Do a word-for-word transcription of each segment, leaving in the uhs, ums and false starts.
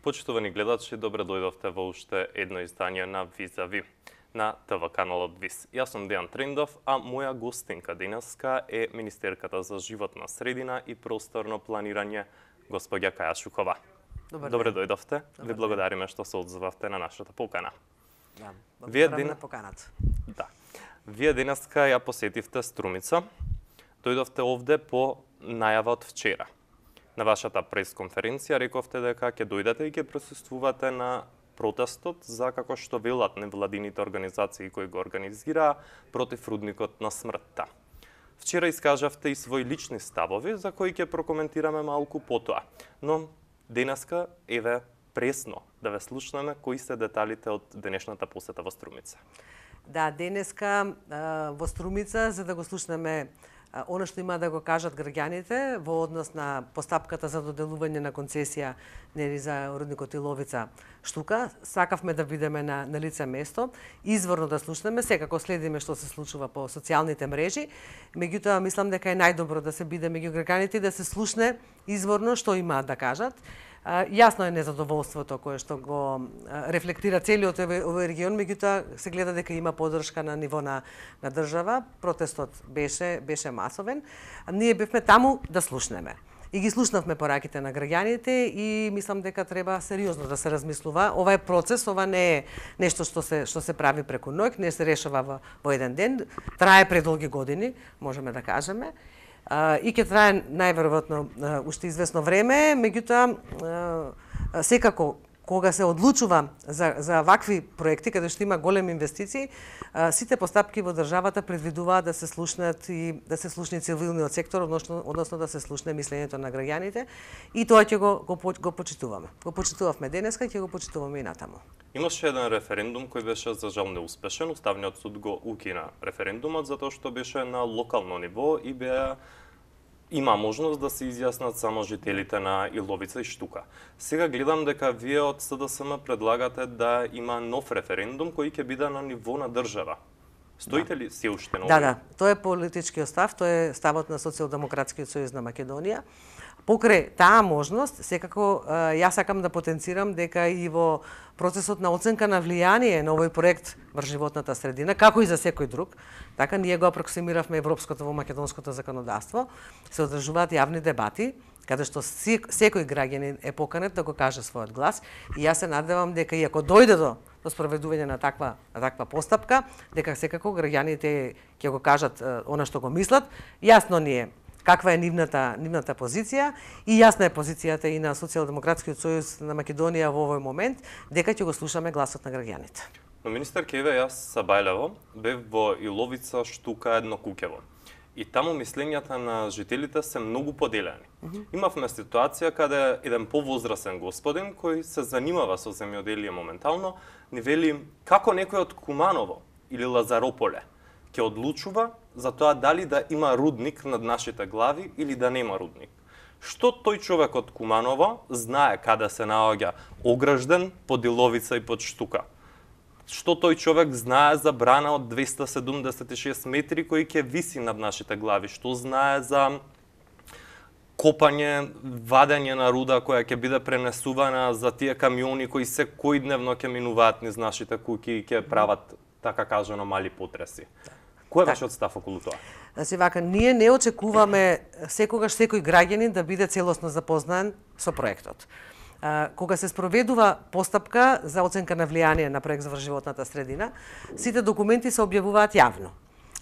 Почитувани гледачи, добре дојдовте во уште едно издание на Визави на ТВ каналот ВИС. Јас сум Дејан Трендов, а моја гостинка денеска е министерката за животна средина и просторно планирање, господја Каја Шукова. Добре, добре дојдовте. Добре Ви благодариме што се одзовавте на нашата покана. Да, Вие благодарам ден... на поканата. Да. Вие денеска ја посетивте Струмица. Дојдовте овде по најава од вчера. На вашата пресконференција рековте дека ќе дојдете и ќе присуствувате на протестот за, како што велат невладините организации кои го организираа, против рудникот на смртта. Вчера искажавте и своји лични ставови за кои ќе прокоментираме малку потоа. Но денеска еве пресно да ве слушнеме кои се деталите од денешната посета во Струмица. Да, денеска во Струмица за да го слушнеме она што има да го кажат граѓаните во однос на постапката за доделување на концесија нели за рудникот Иловица Штука, сакавме да бидеме на, на лице место, изворно да слушнеме, секако следиме што се случува по социјалните мрежи, меѓутоа мислам дека е најдобро да се биде меѓу граѓаните и да се слушне изворно што имаат да кажат. Uh, јасно е незадоволството кое што го uh, рефлектира целиот овој регион, меѓутоа се гледа дека има поддршка на ниво на, на држава. Протестот беше беше масовен. А ние бевме таму да слушнеме. И ги слушнавме пораките на граѓаните и мислам дека треба сериозно да се размислува. Ова е процес, ова не е нешто што се што се прави преку ноќ, не се решава во, во еден ден, трае предолги години, можеме да кажеме. Uh, и ќе трае најверојатно uh, уште известно време, меѓутоа uh, секако кога се одлучува за за вакви проекти каде што има големи инвестиции, uh, сите постапки во државата предвидуваат да се слушнат и да се слушне цивилниот сектор, односно односно да се слушне мислењето на граѓаните и тоа ќе го го, го почитуваме. Го почитувавме денеска и ќе го почитуваме и натаму. Имаше еден референдум кој беше за жал неуспешен. Уставниот суд го укина референдумот затоа што беше на локално ниво и беа има можност да се изјаснат само жителите на Иловица и Штука. Сега гледам дека вие од СДСМ предлагате да има нов референдум кој ќе биде на ниво на држава. Стоите ли се уште на Да, да, тоа е политичкиот став, тоа е ставот на Социјалдемократскиот сојуз на Македонија. Покрај таа можност, секако јас сакам да потенцирам дека и во процесот на оценка на влијание на овој проект врз животната средина, како и за секој друг, така ние го апроксимиравме европското во македонското законодавство, се одржуваат јавни дебати, каде што секој граѓанин е поканет да го каже својот глас и јас се надевам дека и ако дојде до до спроведување на таква на таква постапка, дека секако граѓаните ќе го кажат она што го мислат, јасно ни е каква е нивната нивната позиција и јасна е позицијата и на Социјалдемократскиот сојуз на Македонија во овој момент дека ќе го слушаме гласот на граѓаните. Но министер Кеве, јас Сабајлево бев во Иловица Штука едно куќево. И таму мислењата на жителите се многу поделени. Mm -hmm. Имавме ситуација каде еден повозрасен господин кој се занимава со земјоделие моментално ни вели како некој од Куманово или Лазарополе ќе одлучува за тоа дали да има рудник над нашите глави или да нема рудник. Што тој човек од Куманово знае каде се наоѓа огражден под Иловица и под Штука? Што тој човек знае за брана од двеста седумдесет и шест метри кој ќе виси над нашите глави? Што знае за копање, вадење на руда која ќе биде пренесувана за тие камиони кои секојдневно ќе минуваат низ нашите куќи и ќе прават, така кажано, мали потреси? Кој е вашиот став околу тоа? Значи вака, ние не очекуваме секогаш секој граѓанин да биде целосно запознан со проектот. Кога се спроведува постапка за оценка на влијание на проект за врз животната средина, сите документи се објавуваат јавно.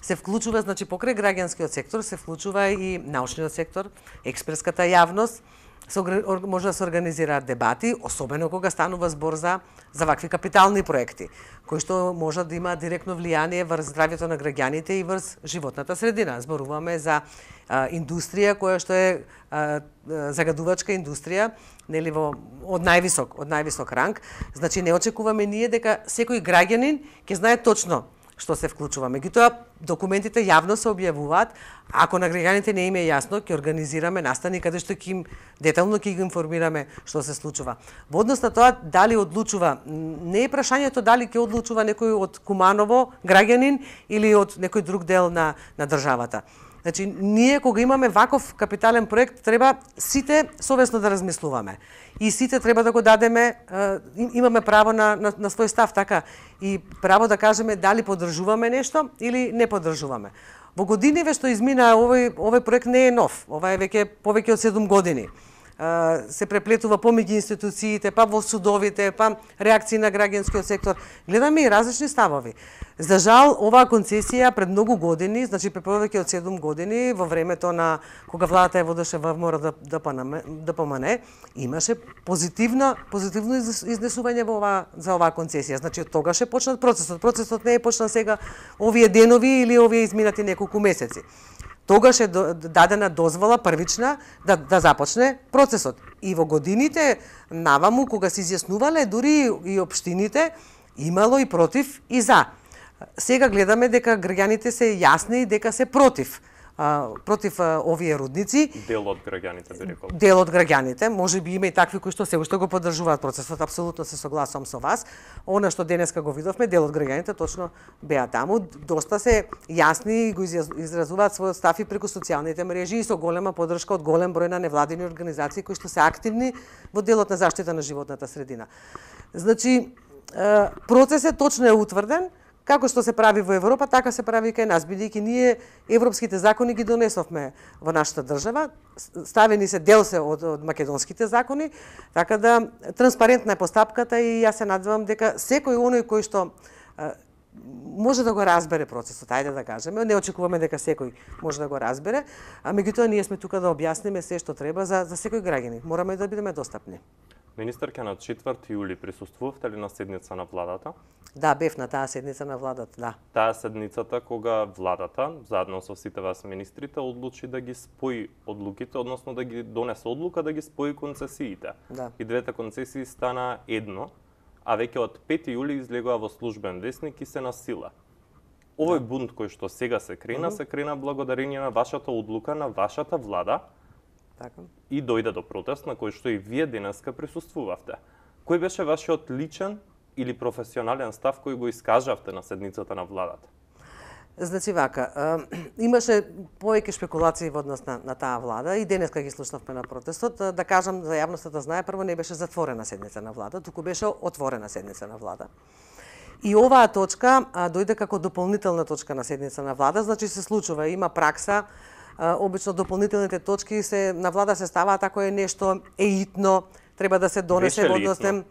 Се вклучува, значи покрај граѓанскиот сектор, се вклучува и научниот сектор, експертската јавност, се, може да се организираат дебати, особено кога станува збор за, за вакви капитални проекти, кои што можат да имаат директно влијание врз здравјето на граѓаните и врз животната средина. Зборуваме за а, индустрија која што е а, загадувачка индустрија, нели во од највисок, од највисок ранг. Значи не очекуваме ние дека секој граѓанин ќе знае точно што се вклучува. Меѓутоа, документите јавно се објавуваат. Ако на граѓаните не им е јасно, ќе организираме настани каде што ќе им детално ќе ги информираме што се случува. Во однос на тоа дали одлучува, не е прашањето дали ќе одлучува некој од Куманово граѓанин или од некој друг дел на на државата. Значи, ние кога имаме ваков капитален проект, треба сите совесно да размислуваме. И сите треба да го дадеме, имаме право на, на, на свој став, така, и право да кажеме дали поддржуваме нешто или не поддржуваме. Во годиниве што измина овој, овој проект не е нов, ова е веќе повеќе од седум години. Се преплетува помеѓу институциите, па во судовите, па реакции на граѓанскиот сектор. Гледаме и различни ставови. За жал, оваа концесија пред многу години, значи пред повеќе од седум години, во времето на кога владата ја водеше ВМРО Д П М Н, имаше позитивно позитивно изнесување во ова за оваа концесија. Значи од тогаш е почнат процесот. Процесот не е почнал сега овие денови или овие изминати неколку месеци. Тогаш е дадена дозвола првична да, да започне процесот. И во годините наваму, кога се изјаснувале, дури и општините, имало и против и за. Сега гледаме дека граѓаните се јасни дека се против. А, против а, овие рудници. Дел од граѓаните, би рекол. Дел од граѓаните, може би има и такви кои што се уште го поддржуваат процесот, апсолутно се согласувам со вас. Она што денеска го видовме, дел од граѓаните точно беа таму, доста се јасни и го изразуваат својот став и преку социјалните мрежи и со голема поддршка од голем број на невладини организации кои што се активни во делот на заштита на животната средина. Значи, процесот точно е утврден. Како што се прави во Европа, така се прави и кај нас, бидејќи ние европските закони ги донесовме во нашата држава, ставени се дел се од, од македонските закони, така да транспарентна е постапката и јас се надевам дека секој оној кој што а, може да го разбере процесот, ајде да кажеме, не очекуваме дека секој може да го разбере, а меѓутоа ние сме тука да објасниме се што треба за, за секој граѓанин. Мораме да бидеме достапни. Министерка, на четврти јули присуствувавте ли на седница на владата? Да, бев на таа седница на владата, да. Таа седницата кога владата, заедно со сите вас министрите, одлучи да ги спои одлуките, односно да ги донесе одлука да ги спои концесиите. Да. И двете концесии стана едно, а веќе од пети јули излегува во службен весник и се на сила. Овој да. бунт кој што сега се крена, mm -hmm. се крена благодарение на вашата одлука, на вашата влада, така. И дојде до протест на кој што и вие денеска присуствувавте. Кој беше вашиот личен или професионален став кој го искажавте на седницата на владата? Значи вака, имаше повеќе шпекулации во однос на, на таа влада и денеска ги слушнавме на протестот. Да кажам за јавноста да знае, прво не беше затворена седница на влада, туку беше отворена седница на влада. И оваа точка а, дојде како дополнителна точка на седница на влада, значи се случува, има пракса. Uh, обично дополнителните точки се на влада се ставаат ако е нешто еитно, треба да се донесе во однос на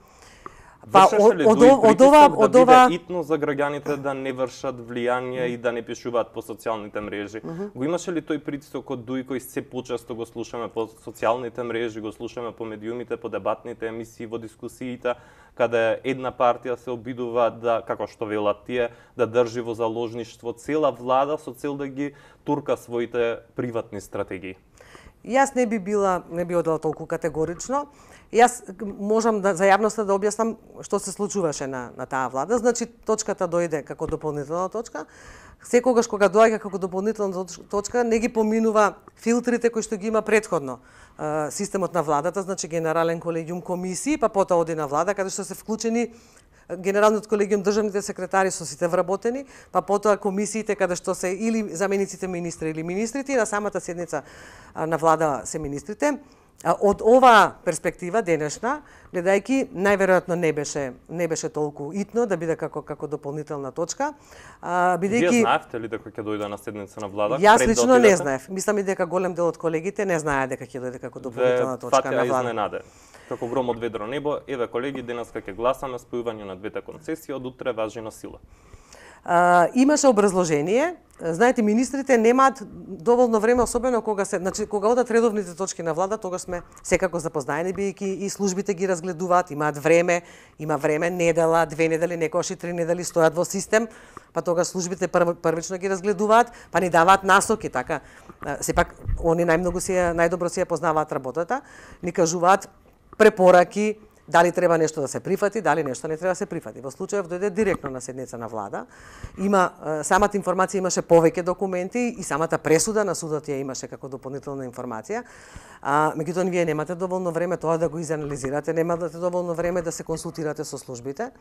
па од од од ова од ова итно за граѓаните да не вршат влијание и да не пишуваат по социјалните мрежи. Mm -hmm. Го имаше ли тој притисок од Дуј кој се почесто го слушаме по социјалните мрежи, го слушаме по медиумите, по дебатните емисии, во дискусиите, каде една партија се обидува да, како што велат тие, да држи во заложништво цела влада со цел да ги турка своите приватни стратегии? Јас не би била, не би одела толку категорично. Јас можам да за јавноста да објаснам што се случуваше на на таа влада. Значи точката дојде како дополнителна точка. Секогаш кога доаѓа како дополнителна точка не ги поминува филтрите кои што ги има претходно системот на владата, значи генерален колегиум комисии, па потоа оди на влада каде што се вклучени Генералниот колегиум државните секретари со сите вработени, па потоа комисиите каде што се или замениците министри или министрите, и на самата седница на влада се министрите. Од оваа перспектива денешна, гледајќи, најверојатно не беше не беше толку итно да биде како како дополнителна точка, бидејќи Вие знаевте ли дека ќе дојде на седница на влада? Јас лично не знаев. Мислам и дека голем дел од колегите не знаеа дека ќе дојде како дополнителна точка на влада. Изненаде. Како гром од ведро небо, еве колеги, денеска ќе гласаме спојување на двете концесии, од утре важи на сила. А, имаше образложение. Знаете, министрите немаат доволно време, особено кога се, значи кога одат редовните точки на влада, тогаш сме секако запознаени, бидејќи и службите ги разгледуваат, имаат време, има време, недела, две недели, некогаш и три недели стојат во систем, па тогаш службите прв, првично ги разгледуваат, па ни даваат насоки, така. Сепак они најмногу си најдобро си ја познаваат работата, ни кажуваат препораки, дали треба нешто да се прифати, дали нешто не треба да се прифати. Во случајов дојде директно на седница на влада. Има самата информација имаше повеќе документи и самата пресуда на судот ја имаше како дополнителна информација. А меѓутоа вие немате доволно време тоа да го изанализирате, немате доволно време да се консултирате со службите.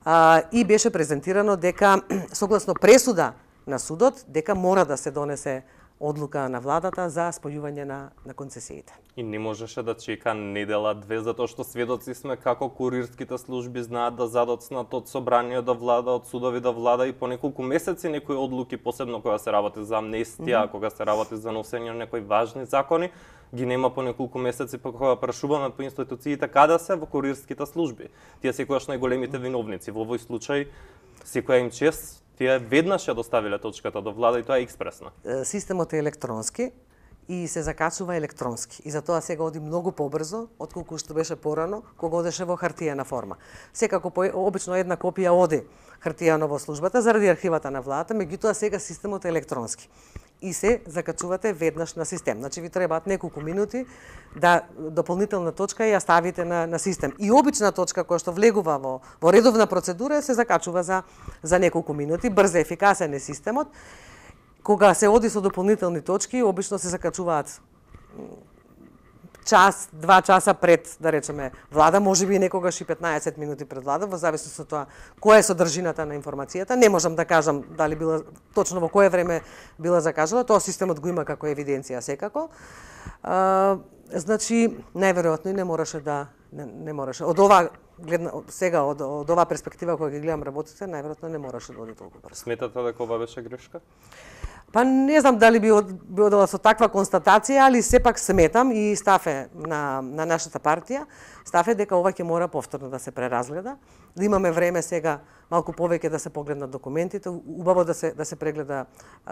А, и беше презентирано дека согласно пресуда на судот дека мора да се донесе одлука на владата за спојување на, на концесиите. И не можеше да чека недела две, затоа што сведоци сме како курирските служби знаат да задоцнат од собрание до влада, од судови до влада и по неколку месеци некои одлуки, посебно кога се работи за амнестија, mm -hmm. кога се работи за носење на некои важни закони, ги нема по неколку месеци, па кога прашуваме по институциите каде се во курирските служби. Тие секогаш најголемите виновници. Во овој случај секоја им чест, тие веднаш ја доставиле точката до влада и тоа е експресно. Системот е електронски и се закачува електронски. И затоа сега оди многу побрзо отколку што беше порано, кога одеше во хартиена форма. Секако по, обично една копија оди хартијано во службата заради архивата на владата, меѓутоа сега системот е електронски. И се закачувате веднаш на систем. Значи ви требаат неколку минути да дополнителна точка ја ставите на, на систем. И обична точка која што влегува во, во редовна процедура се закачува за, за неколку минути. Брз, ефикасен е системот. Кога се оди со дополнителни точки, обично се закачуваат час, два часа пред, да речеме, влада, можеби некогаш и петнаесет минути пред влада, во зависност од тоа која е содржината на информацијата. Не можам да кажам дали била точно во кое време била закажала, тоа системот го има како евиденција секако. А, значи, најверојатно и не мораше да не, не мораше. Од ова гледна сега од, од ова перспектива која ги гледам работите, најверојатно не мораше да оди толку брзо. Сметате дека ова беше грешка? Па не знам дали би би одела со таква констатација, али сепак сметам и став е на, на нашата партија, став е дека ова ќе мора повторно да се преразгледа, да имаме време сега малку повеќе да се погледнат документите, убаво да се да се прегледа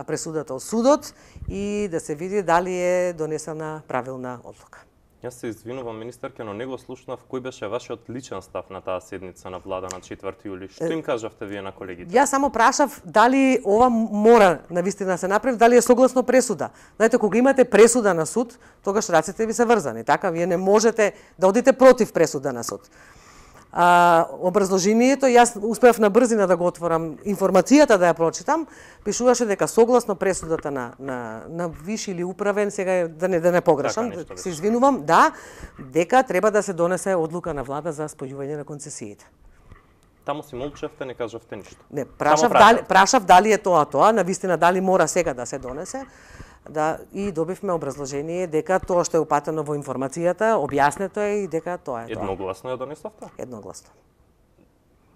пресудата од судот и да се види дали е донесена правилна одлука. Јас се извинувам, министерке, но не го слушнав кој беше вашиот личен став на таа седница на влада на четврти јули. Што им кажавте вие на колегите? Јас само прашав дали ова мора навистина да се направи, дали е согласно пресуда. Знаете, кога имате пресуда на суд, тогаш рацете ви се врзани, така? Вие не можете да одите против пресуда на суд. А, образложението, јас успеав на брзина да го отворам, информацијата да ја прочитам, пишуваше дека согласно пресудата на, на, на виши или управен, сега да не, да не погрешам, така, се извинувам, да, дека треба да се донесе одлука на влада за спојување на концесиите. Таму си молчевте, не кажавте ништо. Не, прашав дали, прашав дали е тоа тоа, навистина дали мора сега да се донесе. Да, и добивме образложение дека тоа што е упатено во информацијата, објаснето е и дека тоа е тоа. Едногласно ја донесовте? Едногласно.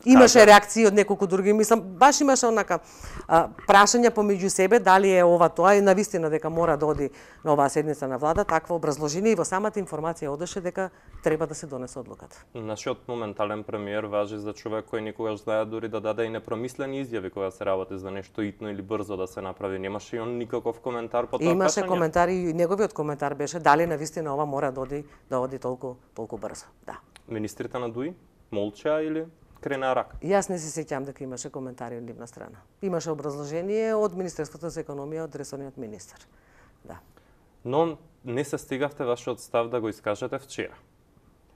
Имаше реакции од неколку други, мислам, баш имаше онака а, прашања помеѓу себе дали е ова тоа и навистина дека мора да оди на оваа седница на влада, такво образложение и во самата информација одеше дека треба да се донесе одлуката. Нашиот моментален премиер важи за човек кој никогаш знае дури да даде и непромислени изјави кога се работи за нешто итно или брзо да се направи. Немаше и он никаков коментар по тоа прашање? Имаше коментар и неговиот коментар беше дали навистина ова мора да оди да оди толку толку брзо. Да. Министрите на ДУИ молчаа или крена рака? Јас не се сеќам дека имаше коментари од нивна страна. Имаше образложение од Министерството за економија, од ресорниот министер. Да. Но не се стигавте вашиот став да го искажете вчера.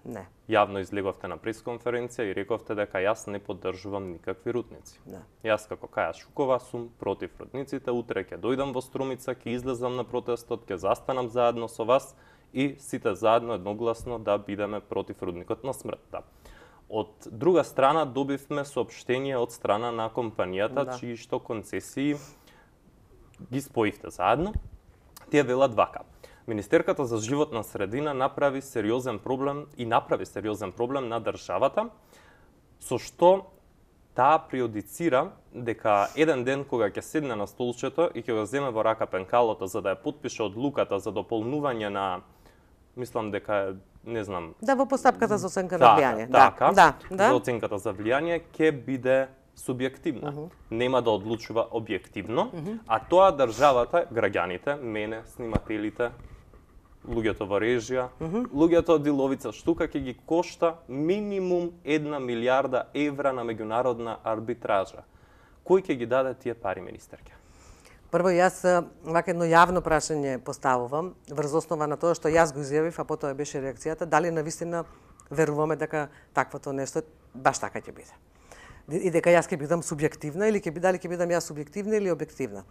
Не. Јавно излеговте на пресконференција и рековте дека јас не поддржувам никакви рудници. Да. Јас како Каја Шукова сум против рудниците, утре ќе дојдам во Струмица, ќе излезам на протестот, ќе застанам заедно со вас и сите заедно едногласно да бидеме против рудникот на смртта. Од друга страна добивме соопштение од страна на компанијата, да, чии што концесии ги споивте заедно. Тие велат вака: Министерката за животна средина направи сериозен проблем и направи сериозен проблем на државата, со што таа приодицира дека еден ден кога ќе седне на столчето и ќе го земе во рака пенкалото за да ја потпише одлуката за дополнување на, мислам дека е, не знам... Да, во постапката за оценка да, на влијание. Така, да, да. За оценката за влијание ќе биде субјективна. Uh -huh. Нема да одлучува објективно, uh -huh. а тоа државата, граѓаните, мене, снимателите, луѓето во режија, uh -huh. луѓето од Иловица Штука ќе ги кошта минимум една милијарда евра на меѓународна арбитража. Кој ќе ги даде тие пари, министерке? Прво, јас вака едно јавно прашање поставувам, врз основа на тоа што јас го изјавив, а потоа беше реакцијата, дали навистина веруваме дека таквото нешто баш така ќе биде. И дека јас ќе бидам субјективна или ќе дали ќе бидам јас субјективна или објективна.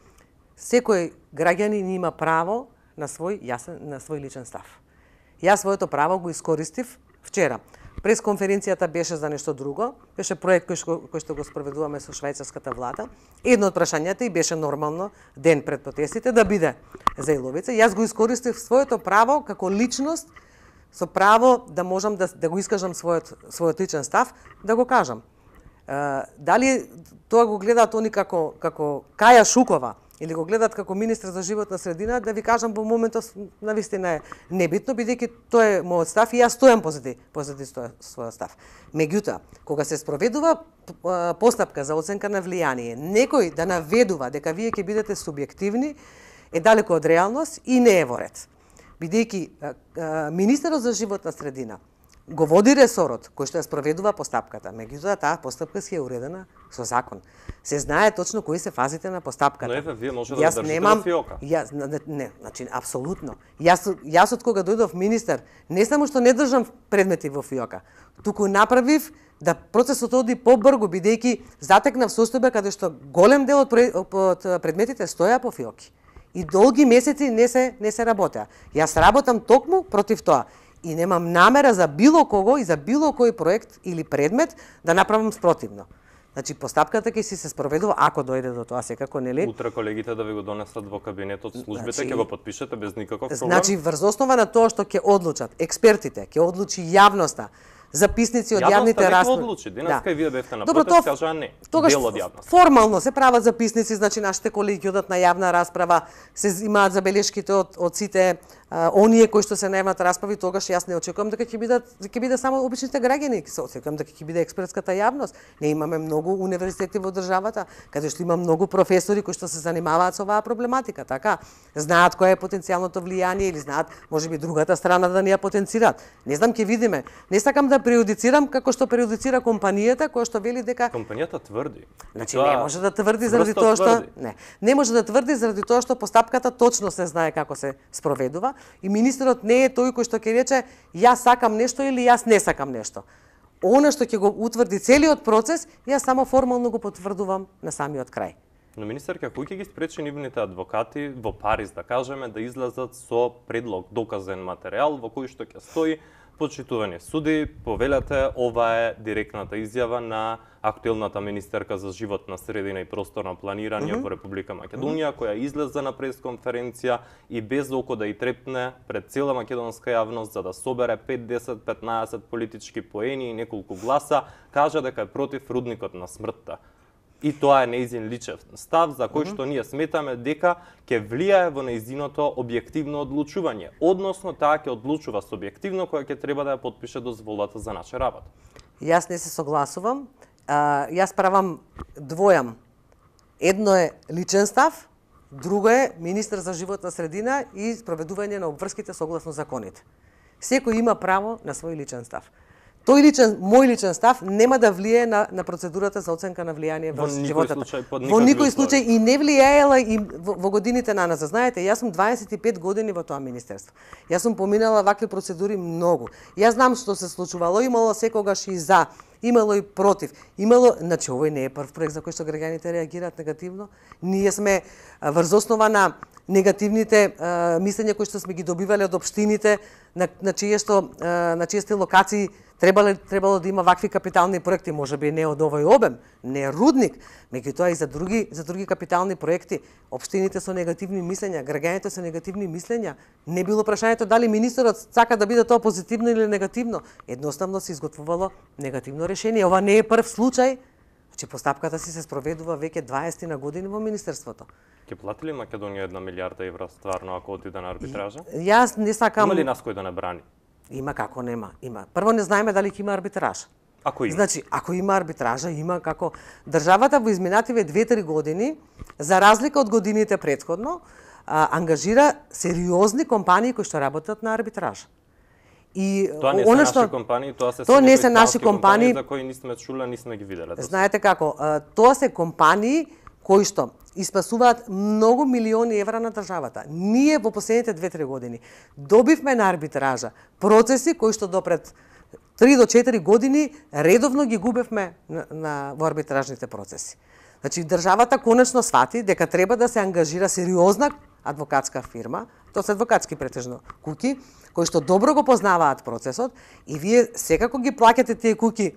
Секој граѓанин има право на свој јасен, на свој личен став. Јас своето право го искористив вчера. Пресконференцијата беше за нешто друго, беше проект кој што, кој што го спроведуваме со швајцарската влада. Едно од прашањата и беше нормално ден пред протестите да биде за Иловица. Јас го искористив своето право како личност, со право да можам да, да го искажам својот, својот личен став, да го кажам. Uh, дали тоа го гледаат они како, како Каја Шукова, или го гледаат како министр за животна средина, да ви кажам во моментот навистина е небитно, бидејќи тоа е мојот став и јас стојам позади, позади својот став. Меѓутоа, кога се спроведува постапка за оценка на влијание, некој да наведува дека вие ќе бидете субјективни, е далеко од реалност и не е во ред. Бидејќи министерот за животна средина го води ресорот кој што ја спроведува постапката, меѓутоа таа постапка си е уредена со закон. Се знае точно кои се фазите на постапката. Но еве вие може да држите немам, во фиока. Јас не, не, значи апсолутно. Јас јас од кога дојдов министер, не само што не држам предмети во фиока, туку направив да процесот оди побрзо, бидејќи затекнав состојба каде што голем дел од предметите стоја по фиоки. И долги месеци не се не се работеа. Јас работам токму против тоа. И немам намера за било кого и за било кој проект или предмет да направам спротивно. Значи, постапката ќе си се спроведува ако дојде до тоа, секако, нели? Утре колегите да ви го донесат во кабинетот службите, ќе значи, го подпишете без никаков проблем? Значи, врз основа на тоа што ќе одлучат експертите, ќе одлучи јавноста, записници од јавните расправи. Јавноста не одлучи. Денеска и вие бевте на протест, кажаа не. Тогаш дел од јавноста. Формално се прават записници, значи нашите колеги ќе одат на јавна расправа, се имаат забелешките од од сите а, оние кои што се на јавната расправи, тогаш јас не очекувам дека ќе бидат ќе биде само обичните граѓани, се очекувам дека ќе биде експертската јавност. Не имаме многу универзитети во државата, каде што има многу професори кои што се занимаваат со оваа проблематика, така? Знаат кој е потенцијалното влијание или знаат можеби другата страна да ни ја потенцираат. Не знам, ќе видиме. Не сакам да преюдицирам како што преюдицира компанијата која што вели дека компанијата тврди. Значи не може да тврди заради тоа што не. Не може да тврди заради тоа што постапката точно се знае како се спроведува и министерот не е тој кој што ќе рече јас сакам нешто или јас не сакам нешто. Она што ќе го утврди целиот процес, јас само формално го потврдувам на самиот крај. Но министерка, кој ќе ги спречи нивните адвокати во Париз, да кажеме, да излезат со предлог, доказен материјал во кој што ќе стои почитувани суди, повелете, ова е директната изјава на актуелната министерка за животна средина и просторно планирање mm -hmm. во Република Македонија, која излезе на пресконференција и без око да и трепне пред цела македонска јавност за да собере пет, десет, петнаесет политички поени и неколку гласа, кажа дека е против рудникот на смртта. И тоа е нејзин личен став за кој што ние сметаме дека ќе влијае во нејзиното објективно одлучување, односно таа ќе одлучува субјективно која ќе треба да ја потпише дозволата за наша работа. Јас не се согласувам. А, јас правам двојам. Едно е личен став, друго е министер за животна средина и спроведување на обврските согласно законите. Секој има право на свој личен став. Тој личен, мој личен став нема да влијае на, на процедурата за оценка на влијание во животот. Во никој случај и не влијаела и во, во годините на нас. Знаете, јас сум дваесет и пет години во тоа министерство. Јас сум поминала вакви процедури многу. Јас знам што се случувало, имало секогаш и за, имало и против. Имало, значи овој не е прв проект за кој што граѓаните реагираат негативно. Ние сме врз основа на негативните а, мислења кои што сме ги добивале од општините, на, на чие што а, на чие сте локации требало требало да има вакви капитални проекти, можеби не од овој обем, не рудник, меѓутоа и за други за други капитални проекти, општините со негативни мислења, граѓаните со негативни мислења, не било прашањето дали министерот сака да биде тоа позитивно или негативно, едноставно се изготвувало негативно решение. Ова не е прв случај, че постапката си се спроведува веќе дваесет на години во министерството. Ќе плати ли Македонија една милијарда евра стварно ако отиде на арбитража? Јас не сакам. Има ли нас кој да не брани? Има, како нема, има. Прво не знаеме дали ќе има арбитраж. Ако има. Значи, ако има арбитража, има како државата во изминативе две-три години, за разлика од годините претходно, а, ангажира сериозни компании кои што работат на арбитраж. И тоа не се наши што... компании, тоа се тоа не се наши компании за кои не сме чуле, не сме ги виделе. Знаете како, тоа се компании кои што испасуваат многу милиони евра на државата. Ние во последните две-три години добивме на арбитража процеси кои што допред три до четири години редовно ги губевме на, на во арбитражните процеси. Значи државата конечно свати дека треба да се ангажира сериозна адвокатска фирма, тоа се адвокатски претежно куќи, кои што добро го познаваат процесот и вие секако ги плаќате тие куќи,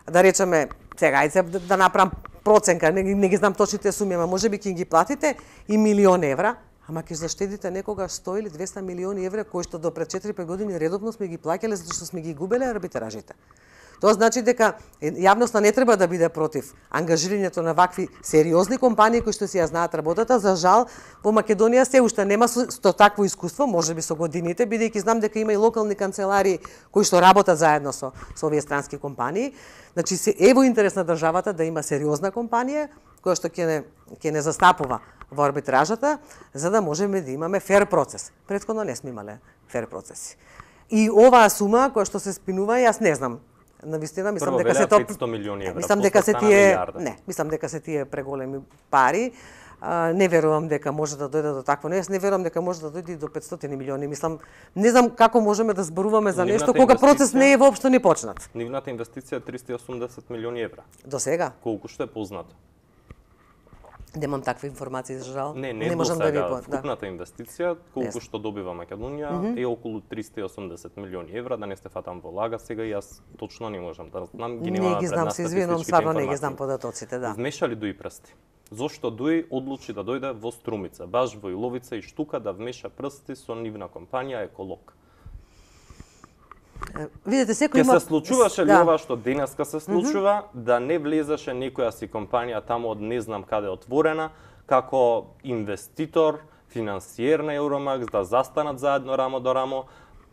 да речеме, сега ајде да, да направам проценка, не, не ги знам точните суми, ама можеби ќе ги платите и милион евра, ама ќе заштедите некогаш сто или двесте милиони евра кои што до пред четири-пет години редовно сме ги плаќале затоа што сме ги губеле арбитражите. Тоа значи дека јавноста не треба да биде против ангажирањето на вакви сериозни компании кои што си ја знаат работата. За жал, во Македонија се уште нема со, со такво искуство, можеби со годините, бидејќи знам дека има и локални канцелари кои што работат заедно со, со овие странски компании. Значи, се е во интерес на државата да има сериозна компанија која што ќе не, ќе не застапува во арбитражата, за да можеме да имаме фер процес. Претходно не сме имале фер процеси. И оваа сума која што се спинува, јас не знам. Навистина, мислам дека се тоа петстотини милиони евра. Мислам дека се тие, не, мислам дека се тие преголеми пари. А, не верувам дека може да дојде до такво. Не, не верувам дека може да дојде и до петстотини милиони. Мислам, не знам како можеме да зборуваме за нешто кога процес не е воопшто ни почнат. Нивната инвестиција е триста и осумдесет милиони евра. До сега? Колку што е познато? Немам такви информации, за жал. Не, не, не можам да ви по... Вкупната да. инвестиција, колку што добива Македонија, mm -hmm. е околу триста и осумдесет милиони евра, да не сте фатам во лага, сега јас точно не можам да знам, ги нема не ги знам, се извинувам, стварно не ги знам податоците, да. Вмеша ли Дуи прсти? Зошто Дуи одлучи да дојде во Струмица, баш во Иловица и Штука да вмеша прсти со нивна компанија Еколог? Видете, секој има... Ке се случуваше ли да. ова што денеска се случува, mm -hmm. да не влезеше некоја си компанија таму од не знам каде отворена, како инвеститор, финансиер на Евромакс, да застанат заедно рамо до рамо,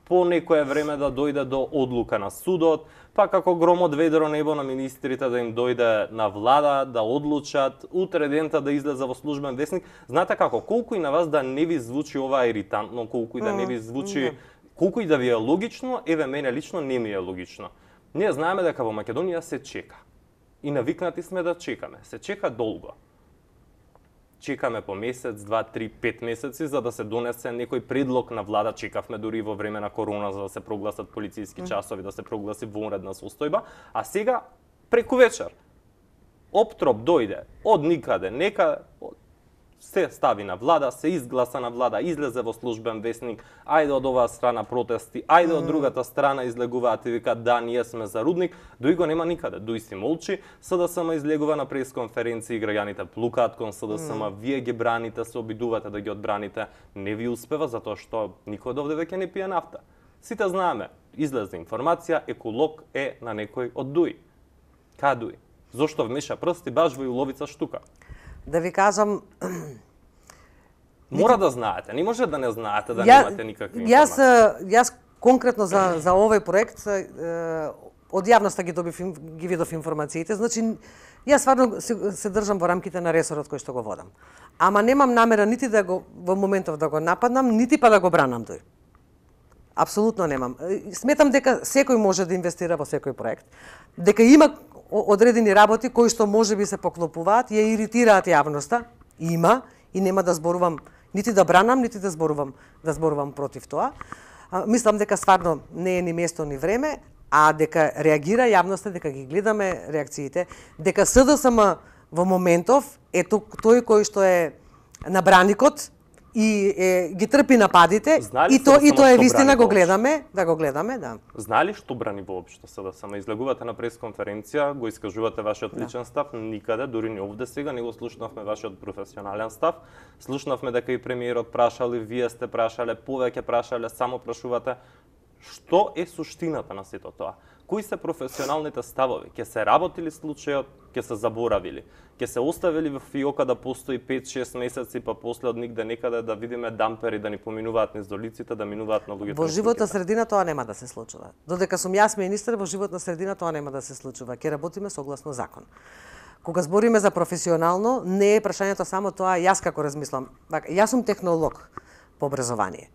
по некое време да дојде до одлука на судот, па како гром од ведро небо на министрите да им дојде на влада, да одлучат, утре дента да излезе во службен весник. Знаете како, колку и на вас да не ви звучи ова иритантно, колку и да не ви звучи... Mm -hmm. Колку и да ви е логично, еве мене лично не ми е логично. Ние знаеме дека во Македонија се чека. И навикнати сме да чекаме. Се чека долго. Чекаме по месец, два, три, пет месеци за да се донесе некој предлог на влада. Чекавме дури во време на корона за да се прогласат полициски часови, да се прогласи вонредна состојба, а сега преку вечер оптроп дојде од никаде, нека се стави на влада, се изгласа на влада, излезе во службен весник, ајде од оваа страна протести, ајде mm. од другата страна излегуваат и викаат да, ние сме за рудник, Дуи го нема никаде, Дуи си молчи, СДСМ излегува на пресконференции, граѓаните плукаат кон СДСМ, mm. вие ги браните, се обидувате да ги одбраните, не ви успева затоа што никој од овде веќе не пие нафта. Сите знаеме, излезе информација, Еколог е на некој од Дуи. Кај Дуи? Зошто вмеша прсти баш во Иловица Штука? Да ви кажам... Мора да знаете, не може да не знаете, да ја, немате никакви јас, информации. Јас конкретно за, за овој проект од јавноста ги добив, ги видов информациите, значи јас стварно се, се држам во рамките на ресорот кој што го водам. Ама немам намера нити да го во моментов да го нападнам, нити па да го бранам Дуи. Апсолутно немам. Сметам дека секој може да инвестира во секој проект, дека има одредени работи кои што можеби се поклопуваат, ја иритираат јавноста, има и нема да зборувам нити да бранам, нити да зборувам да зборувам против тоа. А, мислам дека стварно не е ни место ни време, а дека реагира јавноста, дека ги гледаме реакциите, дека СДСМ во моментов е тој кој што е на браникот и е, ги трпи нападите и то и тоа е вистина, го гледаме, да го гледаме, да. Знали што брани воопшто СДСМ? Излегувате на пресконференција, го искажувате вашиот личен да. став, никаде, дури не овде сега, не го слушнавме вашиот професионален став. Слушнавме дека и премиерот прашали, вие сте прашале, повеќе прашале, само прашувате. Што е суштината на сето тоа? Кои се професионалните ставови? Ке се работили случајот, ке се заборавили? Ке се оставили во фиока да постои пет-шест месеци, па после од нигде некаде да видиме дампери да ни поминуваат низ долиците, да минуваат на луѓето? Во животна средина тоа нема да се случува. Додека сум јас министер, во животна средина тоа нема да се случува. Ке работиме согласно закон. Кога збориме за професионално, не е прашањето само тоа, јас како размислам. Јас сум технолог по образование.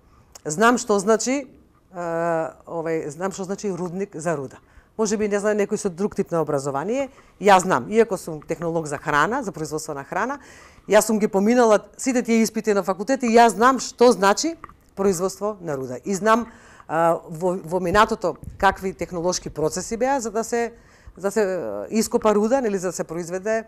Знам што значи Uh, овај, знам што значи рудник за руда. Може би не знае некој со друг тип на образование, јас знам, иако сум технолог за храна, за производство на храна, јас сум ги поминала сите тие испити на факултет и јас знам што значи производство на руда. И знам uh, во, во минатото какви технолошки процеси беа за да се за да се ископа руда, нели за да се произведе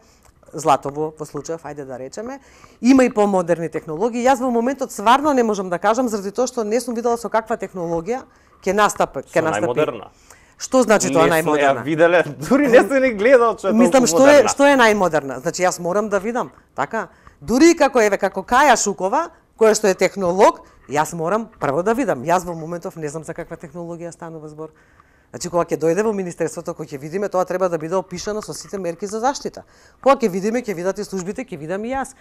злато во, во случајов, ајде да речеме. Има и помодерни технологии. Јас во моментот сварно не можам да кажам заради тоа што не сум видела со каква технологија ќе настапи, ќе настапи. Најмодерна. Што значи тоа најмодерна? Не сум ја виделе, дури не сум ни гледал што е толку Мислам, што модерна. е што е најмодерна? Значи јас морам да видам, така? Дури како еве како Каја Шукова, која што е технолог, јас морам прво да видам. Јас во моментов не знам за каква технологија станува збор. Значи кога ќе дојде во министерството, кога ќе видиме, тоа треба да биде опишано со сите мерки за заштита. Кога ќе видиме, ќе видат и службите, ќе видам и јас.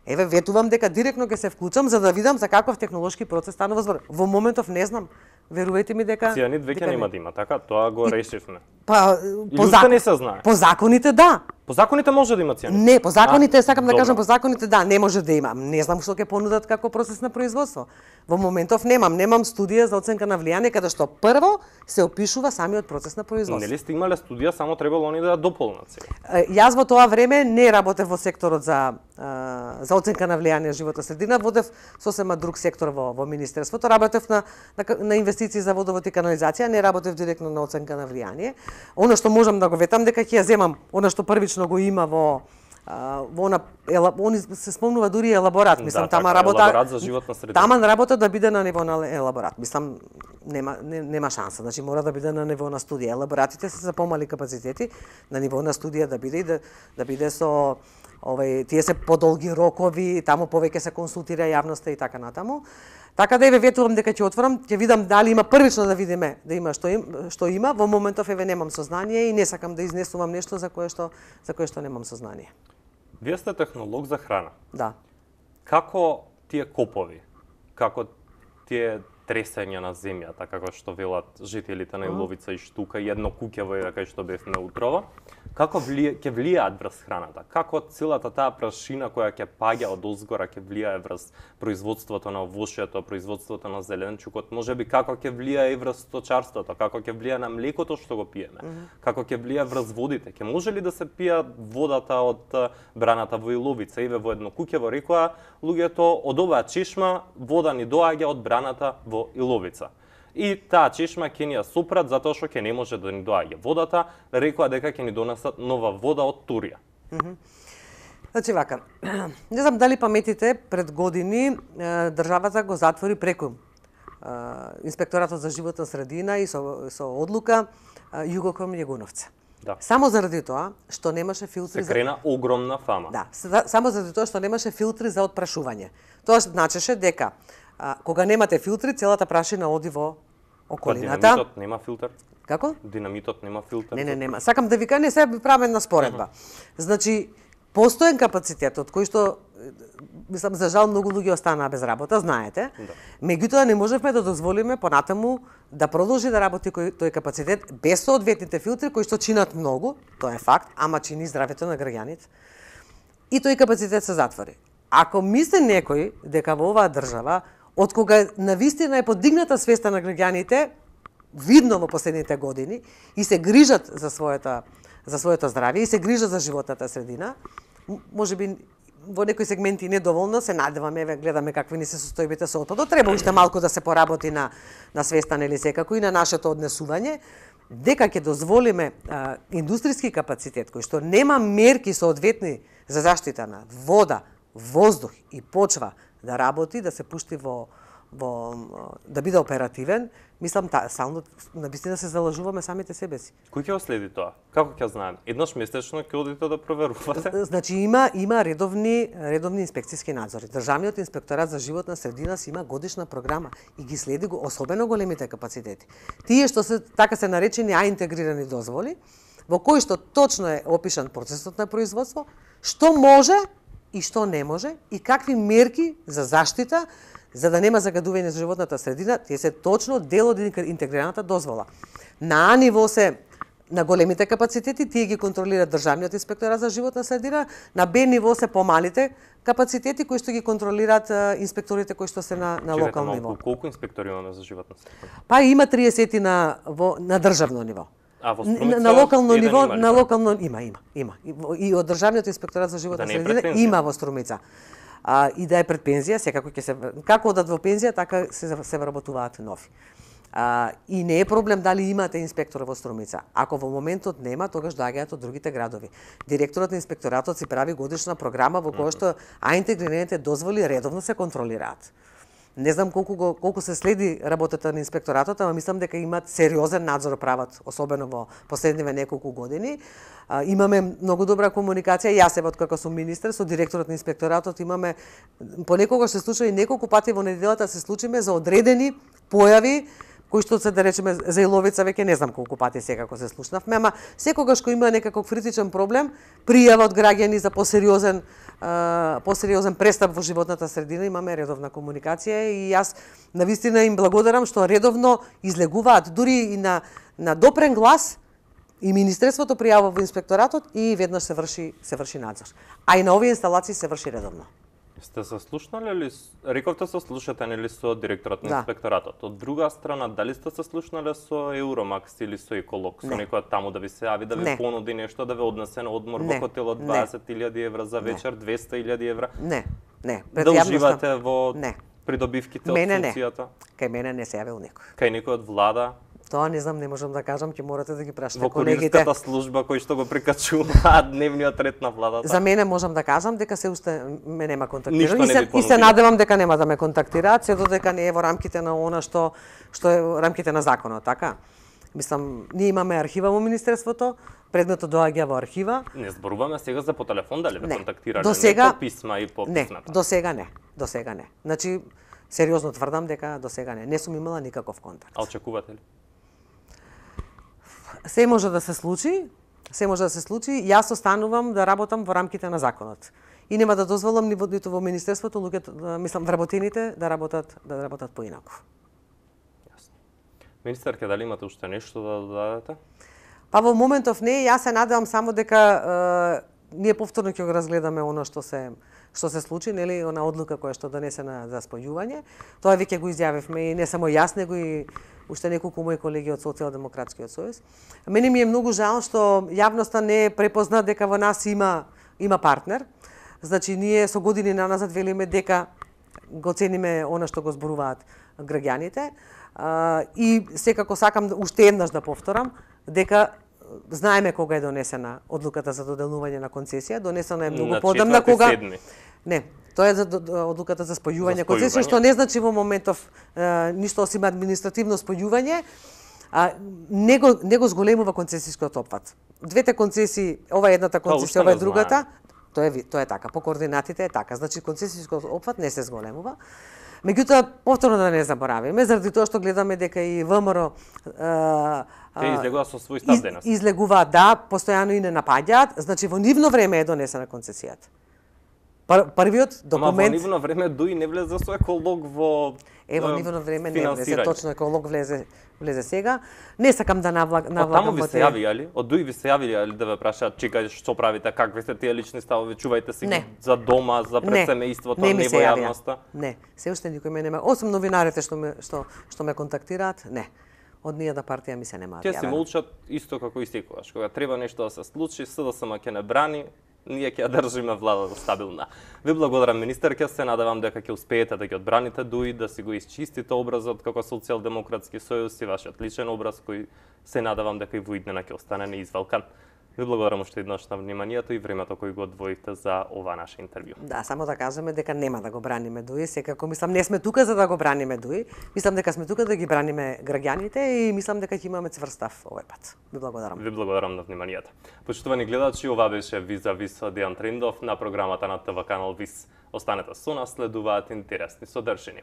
Еве ветувам дека директно ќе се вклучам за да видам за каков технолошки процес станува збор. Во моментов не знам. Верувајте ми дека Цијанид веќе нема да има, така? Тоа го решивме. Па по закон не се знае. По законите да. По законите може да има цијанид. Не, по законите, а, сакам да добро. кажам, по законите да, не може да има. Не знам што ќе понудат како процес на производство. Во моментов немам, немам студија за оценка на влијание каде што прво се опишува самиот процес на производство. Нели сте имале студија, само требало они да ја дополнат сега. Јас во тоа време не работев во секторот за за оценка на влијание животна средина, водев сосема друг сектор во во министерството, работев на на, на инвестиции за водовод и канализација, не работев директно на оценка на влијание. Она што можам да го ветам дека ќе ја земам, она што првично го има во во она они се спомнува дури елаборат, мислам да, тама така, работа елаборат за животна средина. Тама работа да биде на ниво на елаборат. Мислам нема не, нема шанса, значи мора да биде на ниво на студија. Елаборатите се за помали капацитети, на ниво на студија да биде и да да биде со овај тие се подолги рокови, таму повеќе се консултира јавноста и така натаму. Така да еве ветувам дека ќе отворам, ќе видам дали има првично да видиме да има што им, што има. Во моментов еве немам сознание и не сакам да изнесувам нешто за кое што за кое што немам сознание. Вие сте технолог за храна. Да. Како тие копови, како тие тресења на земјата, како што велат жителите на Иловица и Штука, и едно куќево е кај што бевме утрова, како влие, ќе влијаат врз храната? Како целата таа прашина која ќе паѓа од озгора ќе влијае врз производството на овошјето, производството на зеленчукот, можеби како ќе влијае и врз сточарството, како ќе влијае на млекото што го пиеме, mm -hmm. како ќе влијае врз водите, ќе може ли да се пија водата од браната во Иловица? Еве во едно куќево рекоа луѓето од оваа чешма вода ни доаѓа од браната во Иловица. И таа чешма ќе ни ја супрат затоа што ќе не може да ни доаѓа водата, рекоа дека ќе ни донесат нова вода од Турија. Mm -hmm. Значи вака, не знам дали паметите пред години државата го затвори преку Инспекторатот за животна средина и со, со одлука Југоком Јегуновца. Да. Само заради тоа што немаше филтри се крена за... огромна фама. Да, само заради тоа што немаше филтри за отпрашување. Тоа значеше дека а, кога немате филтри, целата прашина оди во околината. Па динамитот нема филтер? Како? Динамитот нема филтер? Не, не, нема. Сакам да ви кажам, не се правам една споредба. Uh-huh. Значи, постоен капацитет од кој што мислам за жал многу луѓе останаа без работа, знаете. Да. Меѓутоа не можевме да дозволиме понатаму да продолжи да работи тој капацитет без соодветните филтри кои што чинат многу, тоа е факт, ама чини здравето на граѓаните. И тој капацитет се затвори. Ако мисли некој дека во оваа држава од кога навистина е подигната свеста на граѓаните, видно во последните години и се грижат за својата за своето здравје и се грижат за животната средина, можеби во некои сегменти недоволно, се надеваме, еве гледаме какви ни се состојбите со отпадот, треба уште малку да се поработи на на свеста нели секако и на нашето однесување, дека ќе дозволиме а, индустријски капацитет кој што нема мерки соодветни за заштита на вода, воздух и почва да работи, да се пушти во во да биде оперативен, мислам та само навистина се залажуваме самите себе си. Кој ќе следи тоа? Како ќе знаеме? Еднаш месечно ќе одите да проверувате? Значи има има редовни редовни инспекциски надзори. Државниот инспекторат за животна средина си има годишна програма и ги следи го особено големите капацитети. Тие што се така се наречени А интегрирани дозволи, во кои што точно е опишан процесот на производство, што може и што не може и какви мерки за заштита за да нема загадување за животната средина, тие се точно дел од интегрираната дозвола. На А ниво се на големите капацитети, тие ги контролира Државниот инспекторат за животна средина, на Б ниво се помалите капацитети кои што ги контролираат инспекторите кои што се на на локално ниво. Колку инспектори имаме за животна средина? Па има триесет на во на државно ниво. А во Струмица, на локално ниво, има на локално има, има, има. И од Државниот инспекторат за животна да средина има во Струмица. А, и да е пред пензија, секако ќе се како одат во пензија, така се се вработуваат нови. А, и не е проблем дали имате инспектор во Струмица. Ако во моментот нема, тогаш доаѓаат од другите градови. Директорот на инспекторатот си прави годишна програма во која што а интегрираните дозволи редовно се контролираат. Не знам колку го, колку се следи работата на инспекторатот, ама мислам дека имаат сериозен надзор прават, особено во последниве неколку години. А, имаме многу добра комуникација. Јас еве откако сум министер со директорот на инспекторатот имаме понекогаш се случува и неколку пати во неделата се случиме за одредени појави кои што се да речеме за Иловица веќе не знам колку пати секако се слушнавме, ама секогаш кој има некаков критичен проблем, пријава од граѓани за посериозен посериозен престап во животната средина, имаме редовна комуникација и јас навистина им благодарам што редовно излегуваат дури и на на допрен глас и министерството пријавува во инспекторатот и веднаш се врши се врши надзор. А и на овие инсталации се врши редовно. Сте се слушнали ли, рековте се слушате нели со директорот на Да. инспекторатот. Од друга страна, дали сте се слушнале со Евромакс или со Еколог, со Не. некој таму да ви се јави, да ви Не. понуди нешто, да ве однесе на одмор Не. во хотелот Не. дваесет илјади евра за вечер, двесте илјади евра? Не, не. Пред Да јавноста- уживате во Не. придобивките од Мене не. функцијата? Кај мене не се јавил никој. Кај некој од влада? Тоа не знам, не можам да кажам, ќе морате да ги прашате Во колегите. курирската служба кој што го прикачува дневниот ред на владата? За мене можам да кажам дека се уште ме нема Ништо контактирано. не И се, ви и се понудиле. надевам дека нема да ме контактираат, се додека не е во рамките на она што што е во рамките на законот, така? Мислам, ние имаме архива во министерството, предметот доаѓа во архива. Не зборуваме сега за по телефон, дали ве Не. контактирале? До Не сега- по писма и по Не, писната? до сега не. До сега не. Значи, сериозно тврдам дека до сега не. Не сум имала никаков контакт. А очекувате ли? Се може да се случи, се може да се случи. Јас останувам да работам во рамките на законот. И нема да дозволам ни во- ниту во министерството луѓето, да, мислам вработените да работат да работат поинаку. Јасно. Министерке, дали имате уште нешто да додадете? Па во моментов не, јас се надевам само дека е, ние повторно ќе го разгледаме оно што се што се случи, нели, она одлука која што донесена за спојување. Тоа веќе го изјавивме и не само јас, него и уште неколку мои колеги од Социјалдемократскиот сојуз. Мене ми е многу жал што јавноста не препозна дека во нас има има партнер. Значи ние со години наназад велиме дека го цениме она што го зборуваат граѓаните. А, и секако сакам да- уште еднаш да повторам дека знаеме кога е донесена одлуката за доделување на концесија, донесена е многу На подамна четврти кога седми. Не, тоа е за до- до- одлуката за спојување За концесија, спојување. што не значи во моментов е, ништо осим административно спојување, а не го не го зголемува концесискиот опфат. Двете концесии, ова е едната уште концесија, ова е не другата, тоа е ви- тоа е така, по координатите е така. Значи концесискиот опфат не се зголемува. Меѓутоа, повторно да не заборавиме, заради тоа што гледаме дека и ВМРО е, Те излегува со свој став из, денес. излегуваат, да, постојано и не напаѓаат, значи во нивно време е донесена концесијата. Пр, првиот Ама во документ нивно време дуи не влезе со еколог во е во е, нивно време не влезе, финансирање. точно еколог влезе влезе сега. Не сакам да навлаг, Од навлагам таму ви во се те. јави, али? Од дуи ви се јавиле, али да ве прашаат, чекај, што правите, какви се тие лични ставови, чувајте си Не. ги за дома, за пред Не, семејството, не не, ми не се во јавија. јавноста. Не, се уште никој ме нема, осум новинарите што ме што што ме контактираат, не. Од ниједна партија ми се нема Тие си јавено. молчат исто како и секогаш. Кога треба нешто да се случи, СДСМ ќе не брани, ние ќе ја држиме владата стабилна. Ви благодарам, министерке, се надевам дека ќе успеете да ги одбраните дуи, да си го исчистите образот како Социјалдемократски сојуз и вашиот личен образ кој се надевам дека и во иднина ќе остане неизвалкан. Ви благодарам уште еднаш на вниманието и времето кој го одвоите за ова наше интервју. Да, само да кажеме дека нема да го браниме Дуи, секако мислам не сме тука за да го браниме Дуи, мислам дека сме тука да ги браниме граѓаните и мислам дека ќе имаме цврст став овој пат. Ви благодарам. Ви благодарам на вниманието. Почитувани гледачи, ова беше Виза Вис од Дејан Трендов на програмата на ТВ канал Вис. Останете со нас, следуваат интересни содржини.